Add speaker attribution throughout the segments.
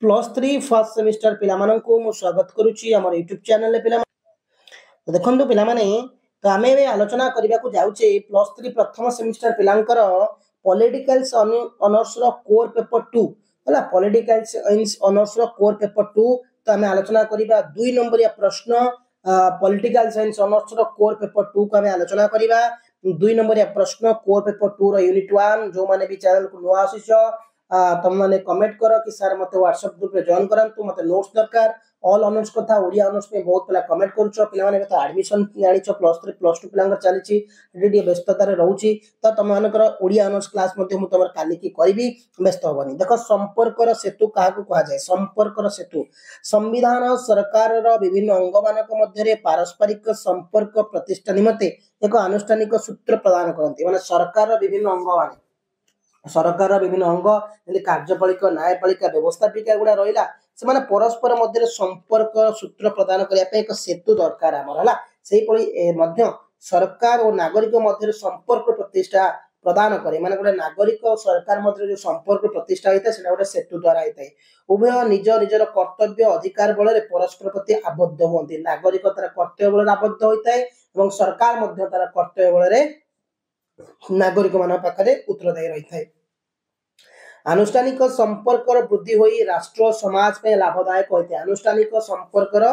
Speaker 1: +3 first semester ପିଲାମାନଙ୍କୁ ମୁଁ ସ୍ୱାଗତ କରୁଛି ଆମର ୟୁଟ୍ୟୁବ୍ ଚ୍ୟାନେଲରେ। ପିଲାମାନେ, ଦେଖନ୍ତୁ ପିଲାମାନେ, ତ ଆମେ ଏବେ ଆଲୋଚନା କରିବାକୁ ଯାଉଛେ +3 ପ୍ରଥମ ସେମିଷ୍ଟର ପିଲାଙ୍କର ପଲିଟିକାଲ ଅନର୍ସର କୋର୍ ପେପର 2 ହେଲା। ପଲିଟିକାଲ ସାଇନ୍ସ ଅନର୍ସର କୋର୍ ପେପର 2, ତ ଆମେ ଆଲୋଚନା କରିବା 2 ନମ୍ବରିଆ ପ୍ରଶ୍ନ। ପଲିଟିକାଲ ସାଇନ୍ସ ଅନର୍ସର କୋର୍ ପେପର 2 କୁ ଆମେ ଆଲୋଚନା କରିବା, 2 ନମ୍ବରିଆ ପ୍ରଶ୍ନ, କୋର୍ ପେପର 2 ର ୟୁନିଟ୍ 1। ଯୋଉମାନେ ବି ଚ୍ୟାନେଲକୁ ନୂଆ ଆସିଛ, ତମମାନେ କମେଣ୍ଟ କର କି ସାର୍, ମତେ ହ୍ୱାଟ୍ସଆପ୍ ଗ୍ରୁପରେ ଜଏନ୍ କରାନ୍ତୁ, ମତେ ନୋଟ୍ସ ଦରକାର। ଅଲ୍ ଅନର୍ସ କଥା, ଓଡ଼ିଆ ଅନର୍ସ ପାଇଁ ବହୁତ ପିଲା କମେଣ୍ଟ କରୁଛ। ପିଲାମାନେ, ଏବେ ତ ଆଡମିସନ ଜାଣିଛ, +3 +2 ପିଲାଙ୍କର ଚାଲିଛି, ଏଠି ଟିକେ ବ୍ୟସ୍ତତାରେ ରହୁଛି। ତ ତମମାନଙ୍କର ଓଡ଼ିଆ ଅନର୍ସ କ୍ଲାସ୍ ମଧ୍ୟ ମୁଁ ତମର କାଲିକି କରିବି, ବ୍ୟସ୍ତ ହବନି। ଦେଖ, ସମ୍ପର୍କର ସେତୁ କାହାକୁ କୁହାଯାଏ? ସମ୍ପର୍କର ସେତୁ। ସମ୍ବିଧାନ ସରକାରର ବିଭିନ୍ନ ଅଙ୍ଗମାନଙ୍କ ମଧ୍ୟରେ ପାରସ୍ପରିକ ସମ୍ପର୍କ ପ୍ରତିଷ୍ଠା ନିମନ୍ତେ ଏକ ଆନୁଷ୍ଠାନିକ ସୂତ୍ର ପ୍ରଦାନ କରନ୍ତି। ମାନେ ସରକାରର ବିଭିନ୍ନ ଅଙ୍ଗମାନେ, ସରକାରର ବିଭିନ୍ନ ଅଙ୍ଗ ଯେମିତି କାର୍ଯ୍ୟପାଳିକା, ନ୍ୟାୟପାଳିକା, ବ୍ୟବସ୍ଥାପିକା ଗୁଡା ରହିଲା, ସେମାନେ ପରସ୍ପର ମଧ୍ୟରେ ସମ୍ପର୍କ ସୂତ୍ର ପ୍ରଦାନ କରିବା ପାଇଁ ଏକ ସେତୁ ଦରକାର ଆମର ହେଲା। ସେଇଭଳି ମଧ୍ୟ ସରକାର ଓ ନାଗରିକ ମଧ୍ୟରେ ସମ୍ପର୍କ ପ୍ରତିଷ୍ଠା ପ୍ରଦାନ କରେ। ମାନେ ଗୋଟେ ନାଗରିକ ଓ ସରକାର ମଧ୍ୟରେ ଯୋଉ ସମ୍ପର୍କ ପ୍ରତିଷ୍ଠା ହୋଇଥାଏ, ସେଟା ଗୋଟେ ସେତୁ ଦ୍ଵାରା ହେଇଥାଏ। ଉଭୟ ନିଜ ନିଜର କର୍ତ୍ତବ୍ୟ ଅଧିକାର ବଳରେ ପରସ୍ପର ପ୍ରତି ଆବଦ୍ଧ ହୁଅନ୍ତି। ନାଗରିକ ତାର କର୍ତ୍ତବ୍ୟ ବଳରେ ଆବଦ୍ଧ ହୋଇଥାଏ ଏବଂ ସରକାର ମଧ୍ୟ ତାର କର୍ତ୍ତବ୍ୟ ବଳରେ ନାଗରିକ ମାନଙ୍କ ପାଖରେ ଉତ୍ତରଦାୟୀ ରହିଥାଏ। ଆନୁଷ୍ଠାନିକ ସମ୍ପର୍କର ବୃଦ୍ଧି ହୋଇ ରାଷ୍ଟ୍ର ସମାଜ ପାଇଁ ଲାଭଦାୟକ ହୋଇଥାଏ। ଆନୁଷ୍ଠାନିକ ସମ୍ପର୍କର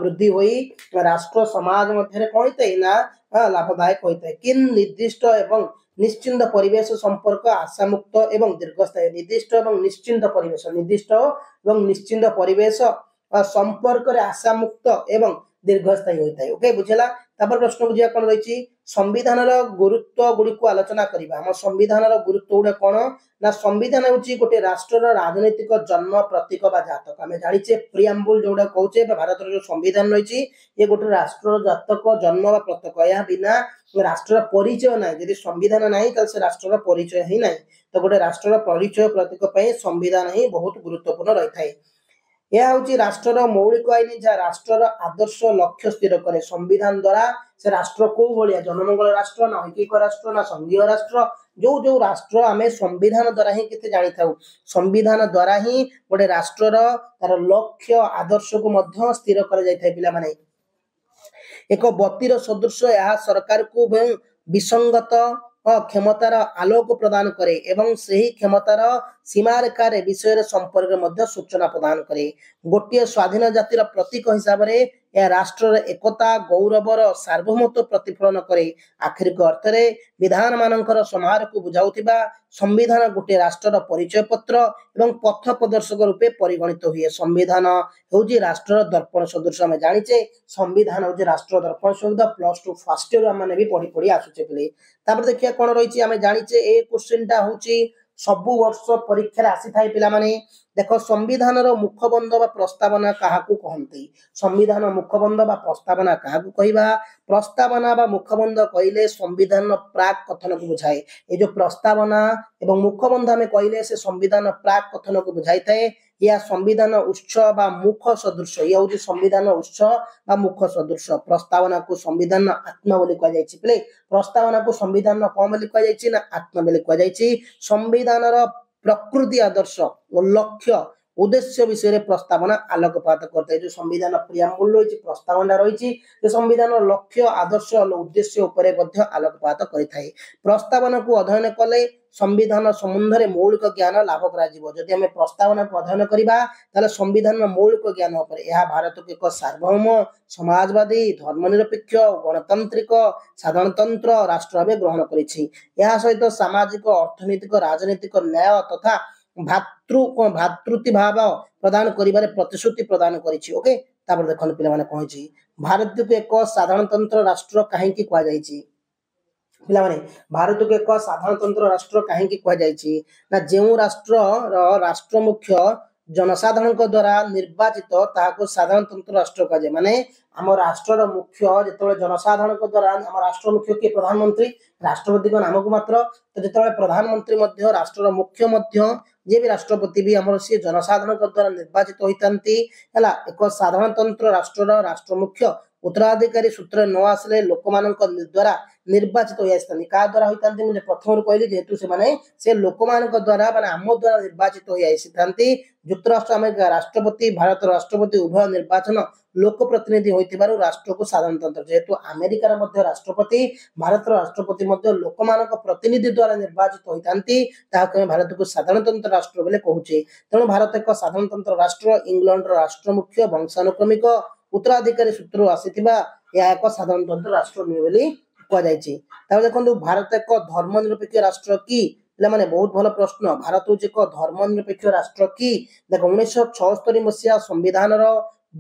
Speaker 1: ବୃଦ୍ଧି ହୋଇ ରାଷ୍ଟ୍ର ସମାଜ ମଧ୍ୟରେ କଣ ହୋଇଥାଏ ନା ଲାଭଦାୟକ ହୋଇଥାଏ। କି ନିର୍ଦ୍ଦିଷ୍ଟ ଏବଂ ନିଶ୍ଚିନ୍ତ ପରିବେଶ ସମ୍ପର୍କ ଆଶାମୁକ୍ତ ଏବଂ ଦୀର୍ଘସ୍ଥାୟୀ। ନିର୍ଦ୍ଦିଷ୍ଟ ଏବଂ ନିଶ୍ଚିନ୍ତ ପରିବେଶ, ନିର୍ଦ୍ଦିଷ୍ଟ ଏବଂ ନିଶ୍ଚିନ୍ତ ପରିବେଶ ସମ୍ପର୍କରେ ଆଶାମୁକ୍ତ ଏବଂ ଦୀର୍ଘସ୍ଥାୟୀ ହୋଇଥାଏ। ଓକେ, ବୁଝିଲା? ତାପରେ ପ୍ରଶ୍ନକୁ ଯିବା, କଣ ରହିଛି? ସମ୍ବିଧାନର ଗୁରୁତ୍ୱ ଗୁଡ଼ିକୁ ଆଲୋଚନା କରିବା। ଆମ ସମ୍ବିଧାନର ଗୁରୁତ୍ୱ ଗୁଡା କଣ ନା ସମ୍ବିଧାନ ହେଉଛି ଗୋଟେ ରାଷ୍ଟ୍ରର ରାଜନୈତିକ ଜନ୍ମ ପ୍ରତୀକ ବା ଜାତକ। ଆମେ ଜାଣିଛେ, ପ୍ରିଆମ୍ବୁଲ ଯୋଉଟା କହୁଛେ ବା ଭାରତର ଯୋଉ ସମ୍ବିଧାନ ରହିଛି, ଇଏ ଗୋଟେ ରାଷ୍ଟ୍ରର ଜାତକ, ଜନ୍ମ ବା ପ୍ରତୀକ। ଏହା ବିନା ରାଷ୍ଟ୍ରର ପରିଚୟ ନାହିଁ। ଯଦି ସମ୍ବିଧାନ ନାହିଁ, ତାହେଲେ ସେ ରାଷ୍ଟ୍ରର ପରିଚୟ ହିଁ ନାହିଁ। ତ ଗୋଟେ ରାଷ୍ଟ୍ରର ପରିଚୟ ପ୍ରତୀକ ପାଇଁ ସମ୍ବିଧାନ ହିଁ ବହୁତ ଗୁରୁତ୍ୱପୂର୍ଣ୍ଣ ରହିଥାଏ। ଏହା ହେଉଛି ରାଷ୍ଟ୍ରର ମୌଳିକ ଆଇନ, ଯାହା ରାଷ୍ଟ୍ରର ଆଦର୍ଶ ଲକ୍ଷ୍ୟ ସ୍ଥିର କରେ। ସମ୍ବିଧାନ ଦ୍ଵାରା ସେ ରାଷ୍ଟ୍ର କୋଉ ଭଳିଆ, ଜନମଙ୍ଗଳ ରାଷ୍ଟ୍ର ନା ଐକିକ ରାଷ୍ଟ୍ର ନା ସଂଘୀୟ ରାଷ୍ଟ୍ର, ଯୋଉ ଯୋଉ ରାଷ୍ଟ୍ର, ଆମେ ସମ୍ବିଧାନ ଦ୍ଵାରା ହିଁ କେତେ ଜାଣିଥାଉ। ସମ୍ବିଧାନ ଦ୍ଵାରା ହିଁ ଗୋଟେ ରାଷ୍ଟ୍ରର ତାର ଲକ୍ଷ୍ୟ ଆଦର୍ଶକୁ ମଧ୍ୟ ସ୍ଥିର କରାଯାଇଥାଏ। ପିଲାମାନେ, ଏକ ବତୀର ସଦୃଶ ଏହା ସରକାରକୁ ବିସଙ୍ଗତ କ୍ଷମତାର ଆଲୋକ ପ୍ରଦାନ କରେ ଏବଂ ସେହି କ୍ଷମତାର ସୀମାରେଖାରେ ବିଷୟରେ ସମ୍ପର୍କରେ ମଧ୍ୟ ସୂଚନା ପ୍ରଦାନ କରେ। ଗୋଟିଏ ସ୍ୱାଧୀନ ଜାତିର ପ୍ରତୀକ ହିସାବରେ ଏହା ରାଷ୍ଟ୍ରର ଏକତା, ଗୌରବର ସାର୍ବଭୌମତ୍ୱ ପ୍ରତିଫଳନ କରେ। ଆକ୍ଷରିକ ଅର୍ଥରେ ବିଧାନ ମାନଙ୍କର ସମାହାରକୁ ବୁଝାଉଥିବା ସମ୍ବିଧାନ ଗୋଟିଏ ରାଷ୍ଟ୍ରର ପରିଚୟ ପତ୍ର ଏବଂ ପଥ ପ୍ରଦର୍ଶକ ରୂପେ ପରିଗଣିତ ହୁଏ। ସମ୍ବିଧାନ ହେଉଛି ରାଷ୍ଟ୍ରର ଦର୍ପଣ ସଦୃଶ। ଆମେ ଜାଣିଛେ, ସମ୍ବିଧାନ ହେଉଛି ରାଷ୍ଟ୍ର ଦର୍ପଣ ସଦୃଶ। +2 ଫାର୍ଷ୍ଟ ଇୟର ଆମେ ବି ପଢି ପଢି ଆସୁଛେ ପିଲେ। ତାପରେ ଦେଖିବା କଣ ରହିଛି। ଆମେ ଜାଣିଛେ, ଏ କ୍ୱେଶ୍ଚିନ୍ ଟା ହଉଛି ସବୁ ବର୍ଷ ପରୀକ୍ଷାରେ ଆସିଥାଏ। ପିଲାମାନେ ଦେଖ, ସମ୍ବିଧାନର ମୁଖବନ୍ଧ ବା ପ୍ରସ୍ତାବନା କାହାକୁ କହନ୍ତି? ସମ୍ବିଧାନ ମୁଖବନ୍ଧ ବା ପ୍ରସ୍ତାବନା କାହାକୁ କହିବା? ପ୍ରସ୍ତାବନା ବା ମୁଖବନ୍ଧ କହିଲେ ସମ୍ବିଧାନର ପ୍ରାକ୍ କଥନକୁ ବୁଝାଏ। ଏ ଯୋଉ ପ୍ରସ୍ତାବନା ଏବଂ ମୁଖବନ୍ଧ ଆମେ କହିଲେ, ସେ ସମ୍ବିଧାନ ପ୍ରାକ୍ କଥନକୁ ବୁଝାଇଥାଏ। ଏହା ସମ୍ବିଧାନ ଉତ୍ସ ବା ମୁଖ ସଦୃଶ। ଇଏ ହଉଛି ସମ୍ବିଧାନ ଉତ୍ସ ବା ମୁଖ ସଦୃଶ। ପ୍ରସ୍ତାବନାକୁ ସମ୍ବିଧାନ ଆତ୍ମା ବୋଲି କୁହାଯାଇଛି। ପିଲେ, ପ୍ରସ୍ତାବନାକୁ ସମ୍ବିଧାନ କଣ ବୋଲି କୁହାଯାଇଛି ନା ଆତ୍ମା ବୋଲି କୁହାଯାଇଛି। ସମ୍ବିଧାନର ପ୍ରକୃତି, ଆଦର୍ଶ ଓ ଲକ୍ଷ୍ୟ ଉଦ୍ଦେଶ୍ୟ ବିଷୟରେ ପ୍ରସ୍ତାବନା ଆଲୋକପାତ କରିଥାଏ। ଯୋଉ ସମ୍ବିଧାନ ପ୍ରିଆମ୍ବୁଲ ରହିଛି, ପ୍ରସ୍ତାବନା ରହିଛି, ସେ ସମ୍ବିଧାନର ଲକ୍ଷ୍ୟ, ଆଦର୍ଶ, ଉଦ୍ଦେଶ୍ୟ ଉପରେ ମଧ୍ୟ ଆଲୋକପାତ କରିଥାଏ। ପ୍ରସ୍ତାବନାକୁ ଅଧ୍ୟୟନ କଲେ ସମ୍ବିଧାନ ସମ୍ବନ୍ଧରେ ମୌଳିକ ଜ୍ଞାନ ଲାଭ କରାଯିବ। ଯଦି ଆମେ ପ୍ରସ୍ତାବନାକୁ ଅଧ୍ୟୟନ କରିବା, ତାହେଲେ ସମ୍ବିଧାନର ମୌଳିକ ଜ୍ଞାନ ଉପରେ, ଏହା ଭାରତକୁ ଏକ ସାର୍ବଭୌମ, ସମାଜବାଦୀ, ଧର୍ମନିରପେକ୍ଷ, ଗଣତାନ୍ତ୍ରିକ, ସାଧାରଣତନ୍ତ୍ର ରାଷ୍ଟ୍ର ଭାବେ ଗ୍ରହଣ କରିଛି। ଏହା ସହିତ ସାମାଜିକ, ଅର୍ଥନୈତିକ, ରାଜନୈତିକ ନ୍ୟାୟ ତଥା ଭ୍ରାତୃତ୍ୱ ଭାବ ପ୍ରଦାନ କରିବାରେ ପ୍ରତିଶ୍ରୁତି ପ୍ରଦାନ କରିଛି। ଓକେ, ତାପରେ ଦେଖନ୍ତୁ ପିଲାମାନେ, କଣ ହେଇଛି? ଭାରତକୁ ଏକ ସାଧାରଣତନ୍ତ୍ର ରାଷ୍ଟ୍ର କାହିଁକି କୁହାଯାଇଛି? ପିଲାମାନେ, ଭାରତକୁ ଏକ ସାଧାରଣତନ୍ତ୍ର ରାଷ୍ଟ୍ର କାହିଁକି କୁହାଯାଇଛି ନା ଯେଉଁ ରାଷ୍ଟ୍ରର ରାଷ୍ଟ୍ର ମୁଖ୍ୟ ଜନସାଧାରଣଙ୍କ ଦ୍ଵାରା ନିର୍ବାଚିତ, ତାହାକୁ ସାଧାରଣତନ୍ତ୍ର ରାଷ୍ଟ୍ର କୁହାଯାଏ। ମାନେ ଆମ ରାଷ୍ଟ୍ରର ମୁଖ୍ୟ ଯେତେବେଳେ ଜନସାଧାରଣଙ୍କ ଦ୍ଵାରା, ଆମ ରାଷ୍ଟ୍ର ମୁଖ୍ୟ କିଏ? ପ୍ରଧାନମନ୍ତ୍ରୀ। ରାଷ୍ଟ୍ରପତିଙ୍କ ନାମକୁ ମାତ୍ର। ତ ଯେତେବେଳେ ପ୍ରଧାନମନ୍ତ୍ରୀ ମଧ୍ୟ, ରାଷ୍ଟ୍ରର ମୁଖ୍ୟ ମଧ୍ୟ, ଯିଏ ବି ରାଷ୍ଟ୍ରପତି ବି ଆମର, ସିଏ ଜନସାଧାରଣଙ୍କ ଦ୍ଵାରା ନିର୍ବାଚିତ ହୋଇଥାନ୍ତି ହେଲା। ଏକ ସାଧାରଣତନ୍ତ୍ର ରାଷ୍ଟ୍ରର ରାଷ୍ଟ୍ର ମୁଖ୍ୟ ଉତ୍ତରାଧିକାରୀ ସୂତ୍ର ନ ଆସିଲେ ଲୋକମାନଙ୍କ ଦ୍ୱାରା ନିର୍ବାଚିତ ହୋଇ ଆସିଥାନ୍ତି। କାହା ଦ୍ୱାରା ହୋଇଥାନ୍ତି? ମୁଁ ପ୍ରଥମରୁ କହିଲି, ଯେହେତୁ ସେମାନେ ସେ ଲୋକମାନଙ୍କ ଦ୍ୱାରା, ମାନେ ଆମ ଦ୍ୱାରା ନିର୍ବାଚିତ ହୋଇ ଆସିଥାନ୍ତି। ଯୁକ୍ତରାଷ୍ଟ୍ର ଆମେରିକା ରାଷ୍ଟ୍ରପତି, ଭାରତର ରାଷ୍ଟ୍ରପତି ଉଭୟ ନିର୍ବାଚନ ଲୋକ ପ୍ରତିନିଧି ହୋଇଥିବାରୁ ରାଷ୍ଟ୍ରକୁ ସାଧାରଣତନ୍ତ୍ର। ଯେହେତୁ ଆମେରିକାର ମଧ୍ୟ ରାଷ୍ଟ୍ରପତି, ଭାରତର ରାଷ୍ଟ୍ରପତି ମଧ୍ୟ ଲୋକମାନଙ୍କ ପ୍ରତିନିଧି ଦ୍ୱାରା ନିର୍ବାଚିତ ହୋଇଥାନ୍ତି, ତାହାକୁ ଆମେ ଭାରତକୁ ସାଧାରଣତନ୍ତ୍ର ରାଷ୍ଟ୍ର ବୋଲି କହୁଛେ। ତେଣୁ ଭାରତ ଏକ ସାଧାରଣତନ୍ତ୍ର ରାଷ୍ଟ୍ର। ଇଂଲଣ୍ଡର ରାଷ୍ଟ୍ରମୁଖ୍ୟ ବଂଶାନୁକ୍ରମିକ ଉତ୍ତରାଧିକାରୀ ସୂତ୍ରରୁ ଆସିଥିବା ଏହା ଏକ ସାଧାରଣତନ୍ତ୍ର ରାଷ୍ଟ୍ର ନୁହେଁ ବୋଲି କୁହାଯାଇଛି। ତାପରେ ଦେଖନ୍ତୁ, ଭାରତ ଏକ ଧର୍ମ ନିରପେକ୍ଷ ରାଷ୍ଟ୍ର କି? ପିଲାମାନେ, ବହୁତ ଭଲ ପ୍ରଶ୍ନ। ଭାରତ ହଉଛି ଏକ ଧର୍ମ ନିରପେକ୍ଷ ରାଷ୍ଟ୍ର କି? ଦେଖ, 1976 ମସିହା ସମ୍ବିଧାନର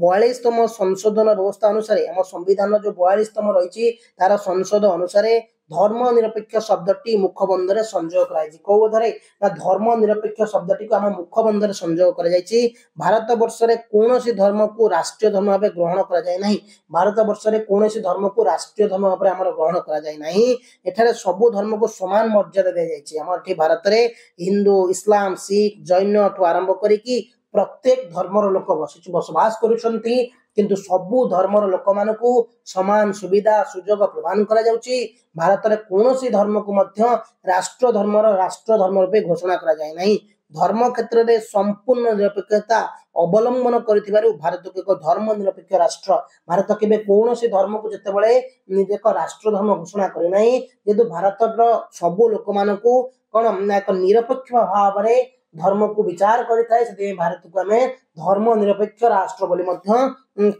Speaker 1: 42ତମ ସଂଶୋଧନ ବ୍ୟବସ୍ଥା ଅନୁସାରେ, ଆମ ସମ୍ବିଧାନର ଯୋଉ 42ତମ ରହିଛି ତାର ସଂଶୋଧନ ଅନୁସାରେ ଧର୍ମ ନିରପେକ୍ଷ ଶବ୍ଦଟି ମୁଖବନ୍ଧରେ ସଂଯୋଗ କରାଯାଇଛି। କୋଉ ବୋଧରେ ନା ଧର୍ମ ନିରପେକ୍ଷ ଶବ୍ଦଟିକୁ ଆମ ମୁଖବନ୍ଧରେ ସଂଯୋଗ କରାଯାଇଛି। ଭାରତ ବର୍ଷରେ କୌଣସି ଧର୍ମକୁ ରାଷ୍ଟ୍ରୀୟ ଧର୍ମ ଭାବେ ଗ୍ରହଣ କରାଯାଏ ନାହିଁ। ଭାରତ ବର୍ଷରେ କୌଣସି ଧର୍ମକୁ ରାଷ୍ଟ୍ରୀୟ ଧର୍ମ ଭାବରେ ଆମର ଗ୍ରହଣ କରାଯାଏ ନାହିଁ। ଏଠାରେ ସବୁ ଧର୍ମକୁ ସମାନ ମର୍ଯ୍ୟାଦା ଦିଆଯାଇଛି। ଆମର ଏଠି ଭାରତରେ ହିନ୍ଦୁ, ଇସଲାମ, ଶିଖ, ଜୈନ ଠୁ ଆରମ୍ଭ କରିକି ପ୍ରତ୍ୟେକ ଧର୍ମର ଲୋକ ବସବାସ କରୁଛନ୍ତି, କିନ୍ତୁ ସବୁ ଧର୍ମର ଲୋକମାନଙ୍କୁ ସମାନ ସୁବିଧା ସୁଯୋଗ ପ୍ରଦାନ କରାଯାଉଛି। ଭାରତରେ କୌଣସି ଧର୍ମକୁ ମଧ୍ୟ ରାଷ୍ଟ୍ର ଧର୍ମ ରୂପେ ଘୋଷଣା କରାଯାଏ ନାହିଁ। ଧର୍ମ କ୍ଷେତ୍ରରେ ସମ୍ପୂର୍ଣ୍ଣ ନିରପେକ୍ଷତା ଅବଲମ୍ବନ କରିଥିବାରୁ ଭାରତକୁ ଏକ ଧର୍ମ ନିରପେକ୍ଷ ରାଷ୍ଟ୍ର। ଭାରତ କେବେ କୌଣସି ଧର୍ମକୁ ଯେତେବେଳେ ନିଜେ ଏକ ରାଷ୍ଟ୍ର ଧର୍ମ ଘୋଷଣା କରେନାହିଁ, ଯେହେତୁ ଭାରତର ସବୁ ଲୋକମାନଙ୍କୁ କଣ ନା ଏକ ନିରପେକ୍ଷ ଭାବରେ ଧର୍ମକୁ ବିଚାର କରିଥାଏ, ସେଥିପାଇଁ ଭାରତକୁ ଆମେ ଧର୍ମ ନିରପେକ୍ଷ ରାଷ୍ଟ୍ର ବୋଲି ମଧ୍ୟ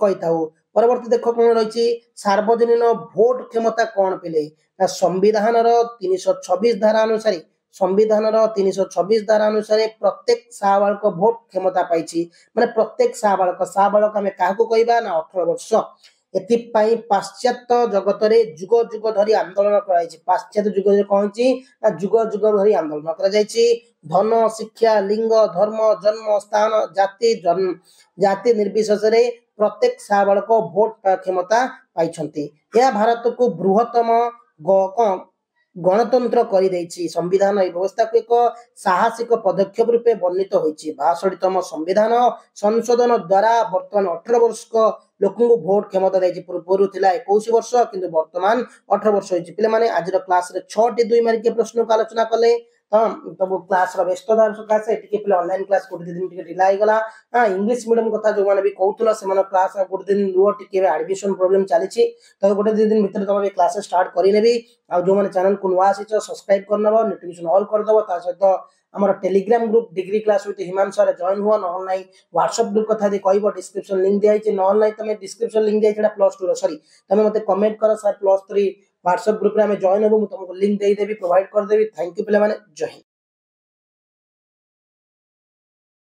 Speaker 1: କହିଥାଉ। ପରବର୍ତ୍ତୀ ଦେଖ କଣ ରହିଛି, ସାର୍ବଜନୀନ ଭୋଟ କ୍ଷମତା କଣ ପିଲେ? ନା ସମ୍ବିଧାନର 326 ଧାରା ଅନୁସାରେ, ସମ୍ବିଧାନର 326 ଧାରା ଅନୁସାରେ ପ୍ରତ୍ୟେକ ସାବାଳକ ଭୋଟ କ୍ଷମତା ପାଇଛି। ମାନେ ପ୍ରତ୍ୟେକ ସାବାଳକ, ସାବାଳକ ଆମେ କାହାକୁ କହିବା ନା 18 ବର୍ଷ। ଏଥିପାଇଁ ପାଶ୍ଚାତ୍ୟ ଜଗତରେ ଯୁଗ ଯୁଗ ଧରି ଆନ୍ଦୋଳନ କରାଯାଇଛି। ପାଶ୍ଚାତ୍ୟ ଯୁଗରେ କଣ ହେଇଛି ନା ଯୁଗ ଯୁଗ ଧରି ଆନ୍ଦୋଳନ କରାଯାଇଛି। ଧନ, ଶିକ୍ଷା, ଲିଙ୍ଗ, ଧର୍ମ, ଜନ୍ମ ସ୍ଥାନ, ଜାତି ନିର୍ବିଶେଷରେ ପ୍ରତ୍ୟେକ ସାବାଳକ ଭୋଟ କ୍ଷମତା ପାଇଛନ୍ତି। ଏହା ଭାରତକୁ ବୃହତ୍ତମ ଗଣତନ୍ତ୍ର କରିଦେଇଛି। ସମ୍ବିଧାନ ଏହି ବ୍ୟବସ୍ଥାକୁ ଏକ ସାହସିକ ପଦକ୍ଷେପ ରୂପେ ବର୍ଣ୍ଣିତ ହୋଇଛି। 62ତମ ସମ୍ବିଧାନ ସଂଶୋଧନ ଦ୍ୱାରା ବର୍ତ୍ତମାନ 18 ବର୍ଷ ଲୋକଙ୍କୁ ଭୋଟ କ୍ଷମତା ଦେଇଛି। ପୂର୍ବରୁ ଥିଲା 21 ବର୍ଷ, କିନ୍ତୁ ବର୍ତ୍ତମାନ 18 ବର୍ଷ ହେଇଛି। ପିଲାମାନେ, ଆଜିର କ୍ଲାସରେ 6ଟି 2 ମାର୍କିଆ ପ୍ରଶ୍ନକୁ ଆଲୋଚନା କଲେ। ହଁ, ତମ କ୍ଲାସର ବ୍ୟସ୍ତତା ସକାଶେ ଟିକେ ପିଲା ଅନଲାଇନ କ୍ଲାସ ଗୋଟେ 2 ଦିନ ଟିକେ ଢିଲା ହେଇଗଲା। ହଁ, ଇଂଲିଶ ମିଡିୟମ କଥା ଯୋଉମାନେ ବି କହୁଥିଲ, ସେମାନେ କ୍ଲାସ ଆଉ ଗୋଟେ ଦିନ ରୁହ ଟିକେ, ଏବେ ଆଡମିସନ ପ୍ରୋବ୍ଲେମ ଚାଲିଛି, ତ ଗୋଟେ 2 ଦିନ ଭିତରେ ତମେ କ୍ଲାସ ଷ୍ଟାର୍ଟ କରିନେବି। ଆଉ ଯୋଉମାନେ ଚ୍ୟାନେଲକୁ ନୂଆ ଆସିଛ, ସବସ୍କ୍ରାଇବ କରିନେବ, ନୋଟିଫିକେସନ ଅଲ୍ କରିଦବ। ତା ସହିତ ଆମର Telegram group degree class with ହିମାଂଶୁରେ join ହୁଅ। ନହେଲେ ନାହିଁ ହ୍ୱାଟ୍ସଆପ୍ ଗ୍ରୁପ୍ କଥା ଯଦି କହିବ, ଡିସ୍କ୍ରିପସନ ଲିଙ୍କ ଦିଆହେଇଛି। ନହେଲେ ନାହିଁ ତମେ ଡିସ୍କ୍ରିପସନ ଲିଙ୍କ ଦିଆହେଇଛି, ସେଟା +2 ର, ସରି। ତମେ ମତେ କମେଣ୍ଟ କର, ସାର୍ +3 ହ୍ୱାଟ୍ସଆପ୍ ଗ୍ରୁପରେ ଆମେ ଜଏନ୍ ହବୁ, ମୁଁ ତମକୁ ଲିଙ୍କ ଦେଇଦେବି, ପ୍ରୋଭାଇଡ କରିଦେବି। Thank you ପିଲାମାନେ, ଜୟ ହିନ୍ଦ।